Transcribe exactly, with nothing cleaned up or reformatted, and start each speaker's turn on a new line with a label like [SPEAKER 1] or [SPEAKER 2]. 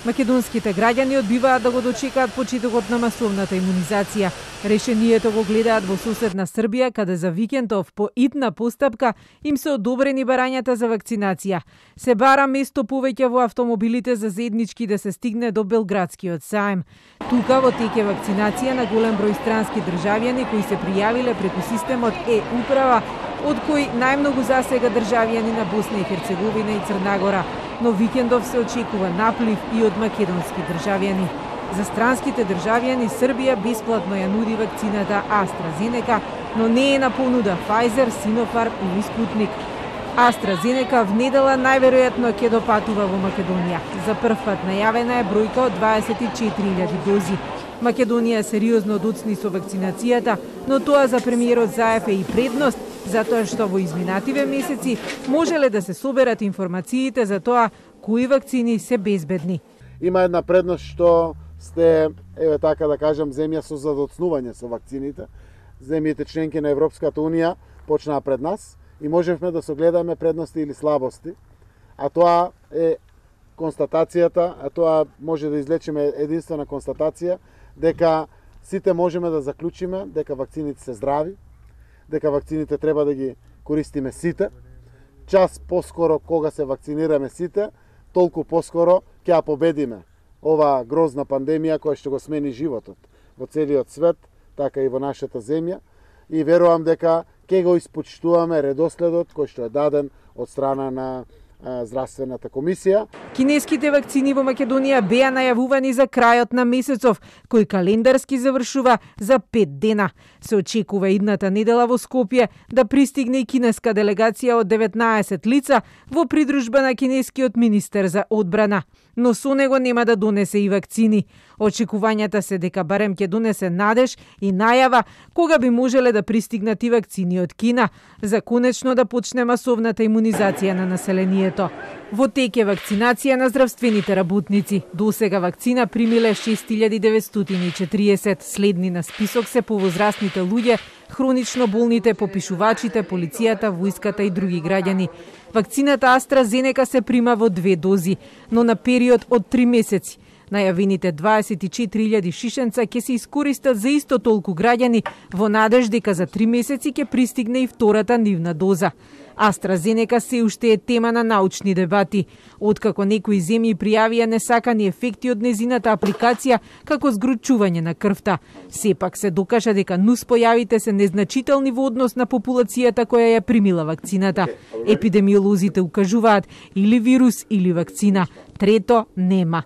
[SPEAKER 1] Македонските граѓани одбиваат да го дочекаат почетокот на масовната имунизација. Решението го гледаат во соседна Србија, каде за викендов по итна постапка им се одобрени барањата за вакцинација. Се бара место повеќе во автомобилите за заеднички да се стигне до Белградскиот саем. Тука во тек е вакцинација на голем број странски државјани кои се пријавиле преку системот Е-управа, од кои најмногу засега државјани на Босна и Херцеговина и Црна Гора, но викендов се очекува наплив и од македонски државјани. За странските државјани Србија бесплатно ја нуди вакцината AstraZeneca, но не е на понуда Pfizer, Sinopharm или Sputnik. AstraZeneca внедела најверојатно ќе допатува во Македонија. За прв пат најавена е бројка од дваесет и четири илјади дози. Македонија сериозно доцни со вакцинацијата, но тоа за премиерот Заев е и предност, затоа што во изминативе месеци можеле да се соберат информациите за тоа кои вакцини се безбедни.
[SPEAKER 2] Има една предност што сте, еве така да кажам, земја со задоцнување со вакцините. Земјите членки на Европската Унија почнаа пред нас и можевме да согледаме предности или слабости, а тоа е констатацијата, а тоа може да излечиме единствена констатација дека сите можеме да заклучиме дека вакцините се здрави, дека вакцините треба да ги користиме сите. Час поскоро кога се вакцинираме сите, толку поскоро ќе ја победиме оваа грозна пандемија која што го смени животот во целиот свет, така и во нашата земја. И верувам дека ќе го испочтуваме редоследот кој што е даден од страна на Здравствената комисија.
[SPEAKER 1] Кинеските вакцини во Македонија беа најавувани за крајот на месецов, кој календарски завршува за пет дена. Се очекува идната недела во Скопје да пристигне и кинеска делегација од деветнаесет лица во придружба на кинескиот министер за одбрана. Но со него нема да донесе и вакцини. Очекувањата се дека барем ќе донесе надеж и најава кога би можеле да пристигнат и вакцини од Кина, за конечно да почне масовната имунизација на населението. Во тек е вакцинација на здравствените работници. Досега вакцина примиле шест илјади деветстотини и четириесет. Следни на список се повозрастните луѓе, хронично болните, попишувачите, полицијата, војската и други граѓани. Вакцината AstraZeneca се прима во две дози, но на период од три месеци. Најавените дваесет и четири илјади шишенца ќе се искористат за исто толку граѓани во надеж дека за три месеци ќе пристигне и втората нивна доза. AstraZeneca се уште е тема на научни дебати. Откако некои земји пријавија несакани ефекти од незината апликација како згручување на крвта, сепак се докажа дека нуспојавите се незначителни во однос на популацијата која ја примила вакцината. Епидемиолозите укажуваат или вирус или вакцина. Трето нема.